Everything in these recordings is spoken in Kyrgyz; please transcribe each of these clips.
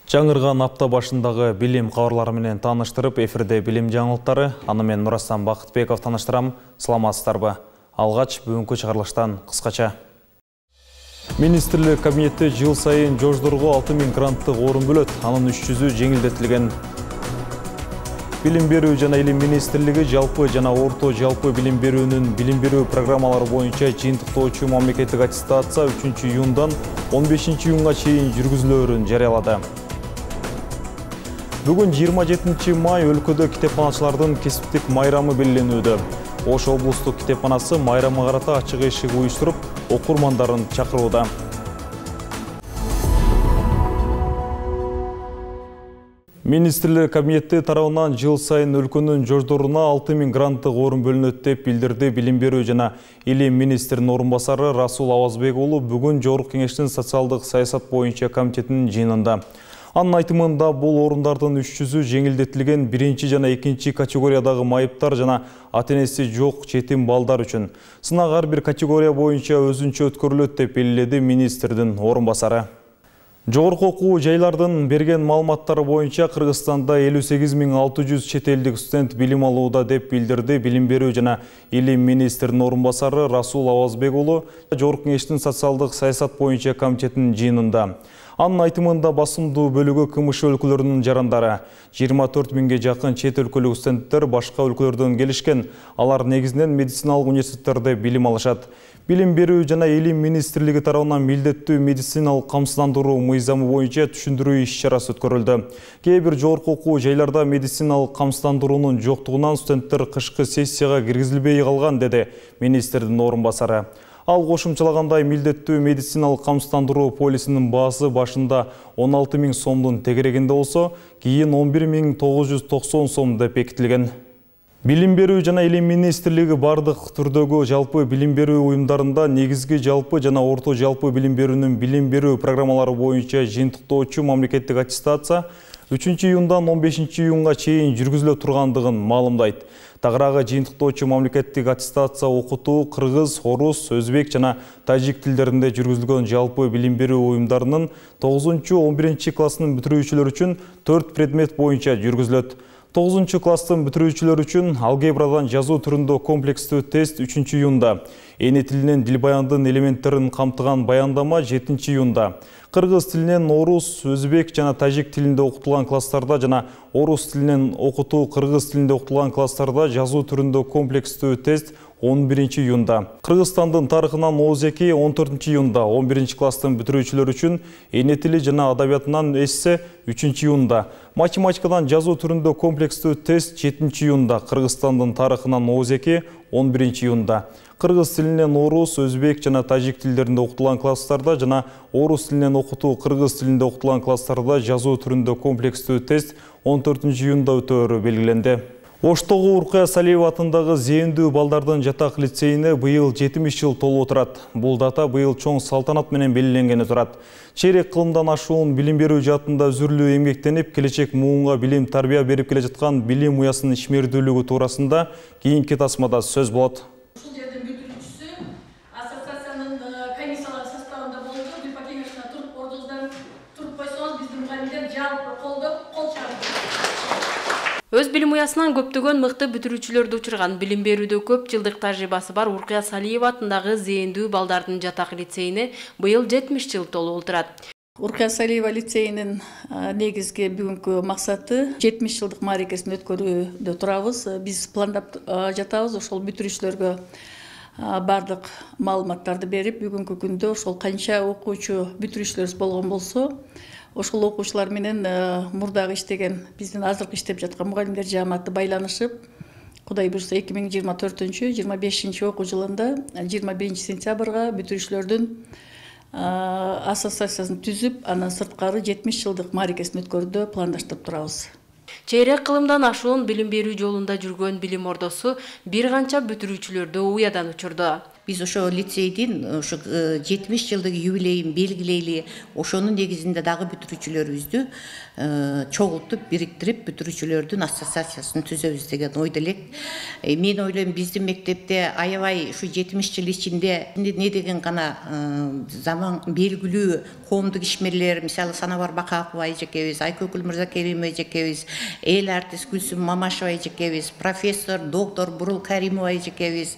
Жаңырган апта башындагы билим кабарлары менен тааныштырып, эфирде билим жаңылыктары. Аны мен Нурастан Бакытбеков тааныштырам. Саламатсыздарбы? Алгач бүгүнкү чыгарылыштан кыскача. Министрлик кабинети жыл сайын жождорго 6000 гранттык орун бөлөт. Анын 300-ü жеңилдетилген. Билим берүү жана илим министрлиги жалпы жана орто жалпы билим берүүнүн билим берүү программалары боюнча жыйынтыктоочу мамлекеттик аттестация 3-июндан 15-июнга чейин жүргүзүлөөрүн жарыялады. Бүгүн 27 май өлкөдө китепканачылардын кесиптик майрамы белгиленүүдө. Ош облустук китепканасы майрамга карата ачык эшик уюштуруп, окурмандарын чакырууда. Министрлик кабинети тарабынан жыл сайын өлкөнүн жождоруна 6000 гранттык орун бөлүнөт деп билдирди билим берүү жана илим министринин орун басары Расул Авазбек уулу бүгүн Жогорку Кеңештин социалдык саясат боюнча комитетинин жыйынында. Анын айтымында бул орундардын 300-ü жеңилдетилген 1 жана 2 категориядагы майыптар жана ата-энеси жок жетим балдар үчүн. Сынак ар бир категория боюнча өзүнчө өткөрүлөт деп белгиледи министрдин орун басары. Жогорку окуу жайлардын берген маалыматтары боюнча Кыргызстанда 58600 чет элдик студент билим алууда деп билдирди билим берүү жана илим министринин орун басары Расул Авазбек уулу Жогорку Кеңештин социалдык саясат боюнча комитетинин жыйынында. Анын айтымында басымдуу бөлүгү КМШ өлкөлөрүнүн жарандары. 24 000 жакын чет өлкөлүк студенттер башка өлкөлөрдөн келишкен. Алар негизинен медициналык университеттерде билим алышат. Билим берүү жана илим министрлиги тарабынан милдеттүү медициналык камсыздандыруу мыйзамы боюнча түшүндүрүү иш-чарасы өткөрүлдү. Кээ бир жогорку окуу жайларда медициналык камсыздандыруунун жоктугунан студенттер кышкы сессияга киргизилбей калган, деди министрдин орун басары. Ал кошумчалагандай милдеттүү медициналык камсыздандыруу полисинин баасы башында 16 000 сомдун тегерегинде болсо, кийин 11 990 сом деп бекитилген. Билим берүү жана илим министрлиги бардык түрдөгү жалпы билим берүү уюмдарында негизги жалпы жана орто жалпы билим берүүнүн билим берүү программалары боюнча жыйынтыктоочу мамлекеттик аттестация 3-июндан 15-июнга чейин жүргүзүлө тургандыгын маалымдайт. Тагыраагы жыйынтыктоочу мамлекеттик аттестация окутуу кыргыз, орус, өзбек жана тажик тилдеринде жүргүзүлгөн жалпы билим берүү уюмдарынын 9-11 класстын бүтүрүүчүлөр үчүн 4 предмет боюнча жүргүзүлөт. 9-класстын бүтүрүүчүлөр үчүн алгебрадан жазуу түрүндө комплекстүү тест 3-июнда, эне тилинен дил баяндын элементтерин камтыган баяндама 7-июнда, кыргыз тилинен орус, өзбек жана тажик тилинде окутулган класстарда жана орус тилинен окутуу кыргыз тилинде окутулган класстарда жазуу түрүндө комплекстүү тест 11-июнда. Кыргызстандын тарыхынан ОЗЕКи 14-июнда, 11-класстын бүтүрүүчүлөр үчүн эне тили жана адабиятынан эссе 3-июнда. Математикадан жазуу түрүндө комплекстүү тест 7-июнда. Кыргызстандын тарыхынан ОЗЕКи 11-июнда. Кыргыз тилинен орус, өзбек жана тажик тилдеринде окутулган класстарда жана орус тилинен окутуу кыргыз тилинде окутулган класстарда жазуу түрүндө комплекстүү тест 14-июнда өтөөрү белгиленди. Оштогу Уркая Салиева атындагы зээндүү балдардын жатак лицейине быйыл 70 жыл толуп турат. Бул дата быйыл чоң салтанат менен белгиленгени турат. Чейрек кылымдан ашуун билим берүү жаатында үзүрлүү эмгектенип, келечек муунга билим тарбия берип келе жаткан билим уясынын ишмердүүлүгү туурасында кийинки тасмада сөз болот. Өз билим уясынан көптөгөн мыкты бүтүрүүчүлөрдү учурган билим берүүдө көп жылдык тажрыйбасы бар Уркая Салиева атындагы зээндүү балдардын жатак лицейине быйыл 70 жыл толуп турат. Уркая Салиева лицейинин негизги бүгүнкү максаты 70 жылдык мааракесин өткөрүүдө турабыз. Биз пландап жатабыз, ошол бүтүрүүчүлөргө бардык маалыматтарды берип, бүгүнкү күндө ошол канча окуучу бүтүрүүчүлөрүбүз болгон болсо, ошол окуучулар менен мурдагы иштеген биздин азыркы иштеп жаткан мугалимдер жааматы байланышып, Кудай буйрса 2024-25 окуу жылында 21 сентябрга бүтүрүүчүлөрдүн ассоциациясын түзүп, анан сырткары 70 жылдык мааракесин өткөрүүдө пландаштырып турабыз. Чейрек кылымдан ашуун билим берүү жолунда жүргөн билим ордосу бир канча бүтүрүүчүлөрдү уядан учурду. Биз ошо лицейдин ошо 70 жылдык юбилейин белгилейли, ошонун негизинде дагы бүтүрүүчүлөрүбүздү чогултуп, бириктирип, бүтүрүүчүлөрдүн ассоциациясын түзөбүз деген ойдо элек. Мен ойлойм, биздин мектепте аябай ушу 70 жыл ичинде не деген гана заман белгилүү коомдук ишмерлер, мисалы Санабар Бакакова эжекебиз, Айкөкүл Мырзакеримова эжекебиз, эл артист Гүлсүм Мамашева эжекебиз, профессор, доктор Бурул Каримова эжекебиз,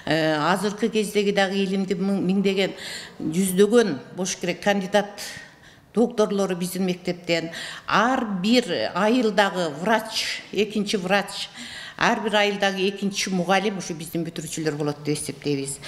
азыркы кездеги дагы илимди миңдеген, жүздөгөн болуш керек кандидат докторлору биздин мектептен, ар бир айылдагы врач, экинчи врач, ар бир айылдагы экинчи мугалим ушу биздин бүтүрүүчүлөр болот деп эсептейбиз.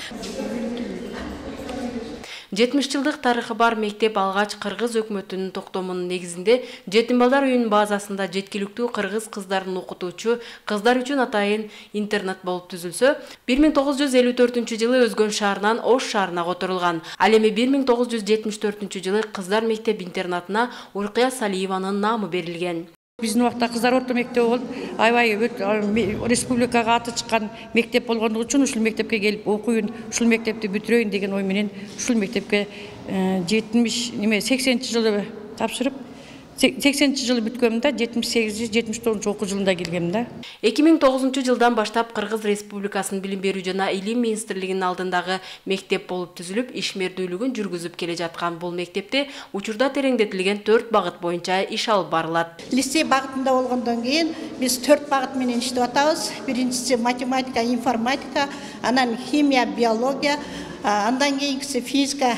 70 жылдык тарыхы бар мектеп алгач кыргыз өкмөтүнүн токтомунун негизинде жетим балдар үйүнүн базасында жеткиликтүү кыргыз кыздарын окутуучу кыздар үчүн атайын интернат болуп түзүлсө, 1954-жылы Өзгөн шаарынан Ош шаарына которулган. Ал эми 1974-жылы кыздар мектеп интернатына Уркуя Салиеванын наамы берилген. Биздин убакта кыздар орто мектеби болуп, аябай республикага аты чыккан мектеп болгондугу үчүн ушул мектепке келип окуйын, ушул мектепти бүтүрөйүн деген ой менен ушул мектепке 80-жылы тапшырып, 80-жылы бүткөмүн да 78-79 окуу жылында келгем да. 2009-жылдан баштап Кыргыз Республикасынын Билим берүү жана Илим министрлигинин алдындагы мектеп болуп түзүлүп, ишмердүүлүгүн жүргүзүп келе жаткан бул мектепте учурда тереңдетилген 4 багыт боюнча иш алып барылат. Лицей багытында болгондон кийин биз 4 багыт менен иштеп атабыз. Биринчиси математика, информатика, анан химия, биология, андан кийинкиси физика,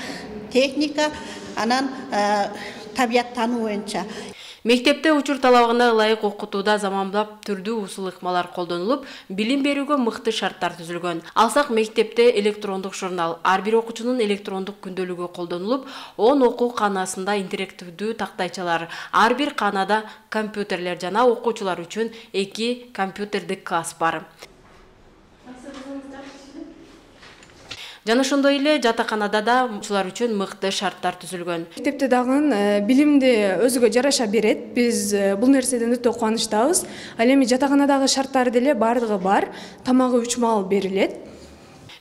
техника, анан табият тануу боюнча. Мектепте учур талабына ылайык окутууда заманбап түрдүү усул ыкмалар колдонулуп, билим берүүгө мыкты шарттар түзүлгөн. Алсак, мектепте электрондук журнал, ар бир окуучунун электрондук күндөлүгү колдонулуп, 10 окуу каанасында интерактивдүү тактайчалар, ар бир каанада компьютерлер жана окуучулар үчүн 2 компьютердик класс бар. Жана ошондой эле жатаканада да окуучулар үчүн мыкты шарттар түзүлгөн. Мектепте дагы билимди өзүгө жараша берет. Биз бул нерседен өтө кубанычтабыз. Ал эми жатаканадагы шарттар деле бардыгы бар. Тамагы 3 маал берилет.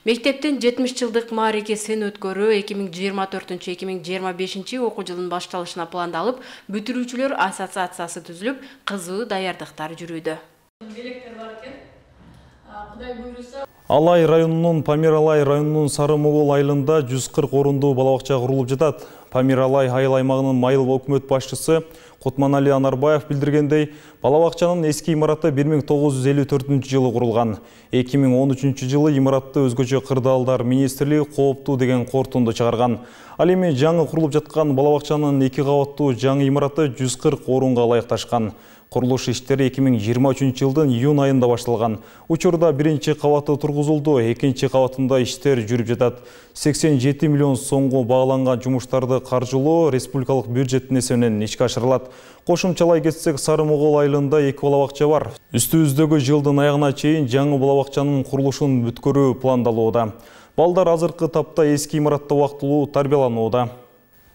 Мектептин 70 жылдык мааракесин өткөрүү 2024-2025 окуу жылынын башталышына пландалып, бүтүрүүчүлөр ассоциациясы түзүлүп, кызуу даярдыктар жүрүүдө. Алай районунун Памир-Алай районунун Сары-Могол айылында 140 орундуу балабакча курулуп жатат. Памир-Алай айыл аймагынын майыл өкмөт башчысы Кутманали Анарбаев билдиргендей, балабакчанын эски имараты 1954-жылы курулган. 2013 жылы имаратты өзгөчө кырдаалдар министрлиги кооптуу деген корутунду чыгарган. Ал эми жаңы курулуп жаткан балабакчанын 2 кабаттуу жаңы имараты 140 орунга ылайыкташкан. Курулуш иштери 2023 жылдын июнь айында башталган. Учурда биринчи кабаты тургузулду, экинчи кабатында иштер жүрүп жатат. 87 миллион сомго багланган жумуштарды каржылоо республикалык бюджеттин эсебинен ишке ашырылат. Кошумчалай кетсек, Сары-Могол айылында 2 балабакча бар. Үстүбүздөгү жылдын аягына чейин жаңы балабакчанын курулушун бүткөрүү пландалууда. Балдар азыркы тапта эски имаратта убактылуу тарбияланууда.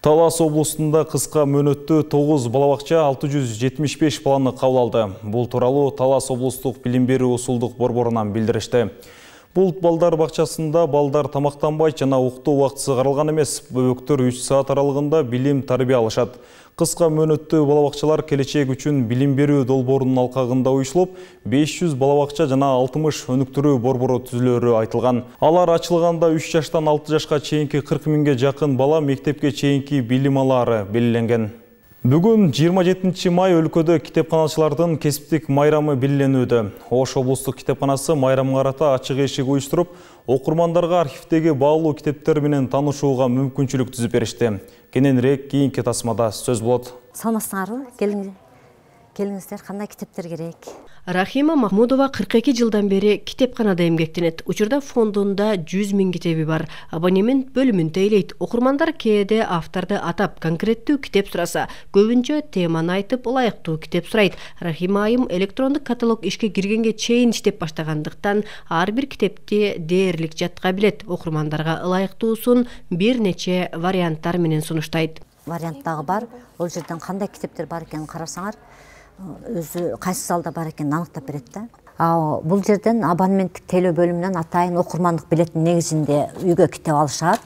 Талас облусунда кыска мөөнөттө 9 балабакча 675 баланы кабыл алды. Бул тууралуу Талас облустук билим берүү усулдук борборунан билдиришти. Бул балдар бакчасында балдар тамактанбай жана уктоо убактысы каралган эмес. Бөбөктөр 3 саат аралыгында билим тарбия алышат. Кыска мөөнөттүү балабакчалар келечек үчүн билим берүү долбоорунун алкагында уюшулуп, 500 балабакча жана 60 өнүктүрүү борбору түзүлөрү айтылган. Алар ачылганда 3 жаштан 6 жашка чейинки 40 миңге жакын бала мектепке чейинки билим алаары белгиленген. Бүгүн 27 май өлкөдө китепканачылардын кесиптик майрамы белгиленүүдө. Ош облустук китепканасы майрамга карата ачык эшик уюштуруп, окурмандарга архивдеги баалуу китептер менен таанышууга мүмкүнчүлүк түзүп беришти. Кененирээк кийинки тасмада сөз болот. Саламатсыңарбы? Келиңиздер, кандай китептер керек? Рахима Махмудова 42 жылдан бери китепканада эмгектенет. Учурда фондунда 100 000 китеби бар. Абонемент бөлүмүн тейлейт. Окурмандар кээде авторду атап конкреттүү китеп сураса, көбүнчө теманы айтып ылайыктуу китеп сурайт. Рахима айым электрондук каталог ишке киргенге чейин иштеп баштагандыктан ар бир китепти дээрлик жатка билет. Окурмандарга ылайыктуусун бир нече варианттар менен сунуштайт. Вариант дагы бар. Ол жерден кандай китептер бар экенин карасаңар, өзү кайсы залда бар экенин аныктап берет да. Бул жерден абонементтик тейлөө бөлүмүнөн атайын окурмандык билеттин негизинде үйгө китеп алышат.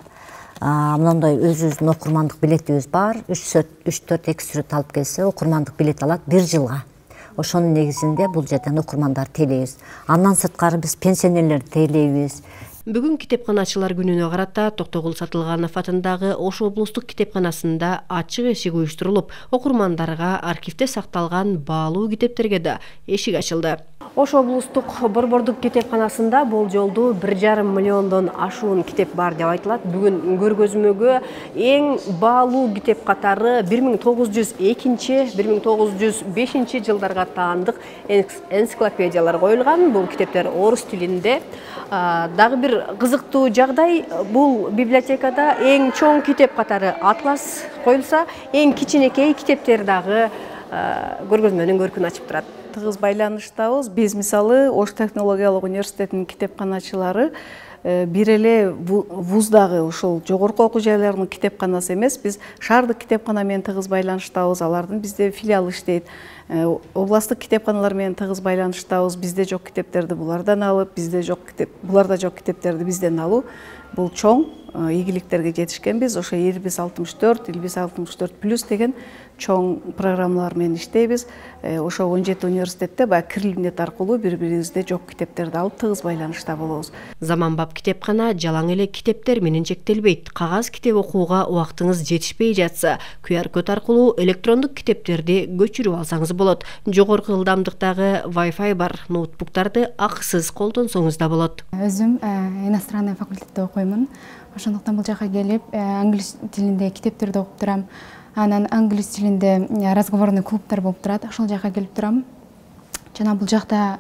Мындай өзүбүздүн окурмандык билетибиз бар. 3-4 экс-сүрөт алып келсе, окурмандык билет алат 1 жылга. Ошонун негизинде бул жерден окурмандар тейлейбиз. Андан сырткары биз пенсионерлерди тейлейбиз. Бүгүн китепканачылар күнүнө карата Токтогул Сатылганов атындагы Ош облустук китепканасында ачык эшик уюштурулуп, окурмандарга архивде сакталган баалуу китептерге да эшик ачылды. Ош облустук борбордук китепканасында болжолдуу 1,5 миллиондон ашуун китеп бар деп айтылат. Бүгүн көргөзмөгө эң баалуу китеп катары 1902-1905 жылдарга таандык энциклопедиялар коюлган. Бул китептер орус тилинде. Дагы бир кызыктуу жагдай, бул библиотекада эң чоң китеп катары атлас коюлса, эң кичинекей китептер дагы көргөзмөнүн көркүн ачып турат. Тыгыз байланыштабыз. Биз мисалы Ош технологиялык университетинин китепканачылары бир эле вуздагы ушул жогорку окуу жайларынын китепканасы эмес, биз шаардык китепкана менен тыгыз байланыштабыз. Алардын бизде филиалы иштейт. Областтык китепканалар менен тыгыз байланыштабыз. Бизде жок китептерди булардан алып, буларда жок китептерди бизден алуу. Бул чоң ийгиликтерге жетишкенбиз. Ошо 6564 деген чоң программалар менен иштейбиз. Ошо 17 университетте баягы кирилимдет аркылуу бири-бирибизде жок китептерди алып тыгыз байланышта болобуз. Заманбап китепкана жалаң эле китептер менен чектелбейт. Кагаз китеп окууга убактыңыз жетишпей жатса, QR-код аркылуу электрондук китептерди көчүрүп алсаңыз болот. Жогорку ылдамдыктагы Wi-Fi бар ноутбуктарды акысыз колдонсоңуз да болот. Өзүм иностранный факультетте окуймун. Ошондуктан бул жака келип, англис тилинде китептерди окуп турам. Анан англис тилинде разговорный клубтар болуп турат. Ошол жака келип турам. Жана бул жакта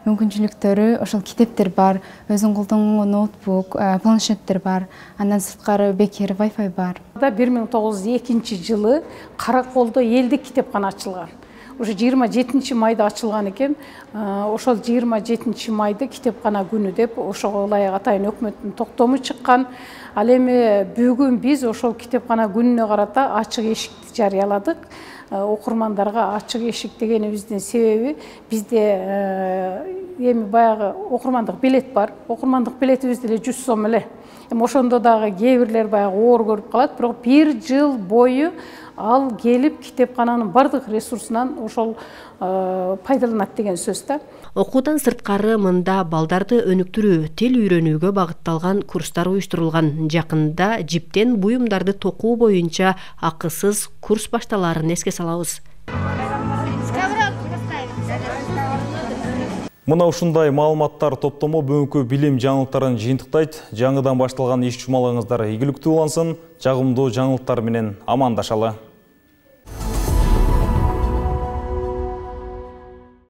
мүмкүнчүлүктөрү, ошол китептер бар, өзүң колдонгон ноутбук, планшеттер бар. Андан сырткары бекер Wi-Fi бар. 1902 жылы Караколдо элдик китепкана ачылган. Уже 27 майда ачылган экен. Ошол 27 майды китепкана күнү деп ошого ылайык атайын өкмөттүн токтому чыккан. Ал эми бүгүн биз ошол китепкана күнүнө карата ачык эшикти жарыяладык. Окурмандарга ачык эшик дегенибиздин себеби бизде эми баягы окурмандык билет бар. Окурмандык билетибиз деле 100 сом эле. Эми ошондо дагы кээ бирлер баягы оор көрүп калат, бирок 1 жыл бою ал келип китепкананын бардык ресурсунан ошол пайдаланат деген сөз да. Окуудан сырткары мында балдарды өнүктүрүү, тил үйрөнүүгө багытталган курстар уюштурулган. Жакында жиптен буюмдарды токуу боюнча акысыз курс башталаарын эске салабыз. Мына ушундай маалыматтар топтому бүгүнкү билим жаңылыктарын жыйынтыктайт. Жаңыдан башталган иш жумалыңыздар ийгиликтүү улансын. Жагымдуу жаңылыктар менен амандашалы.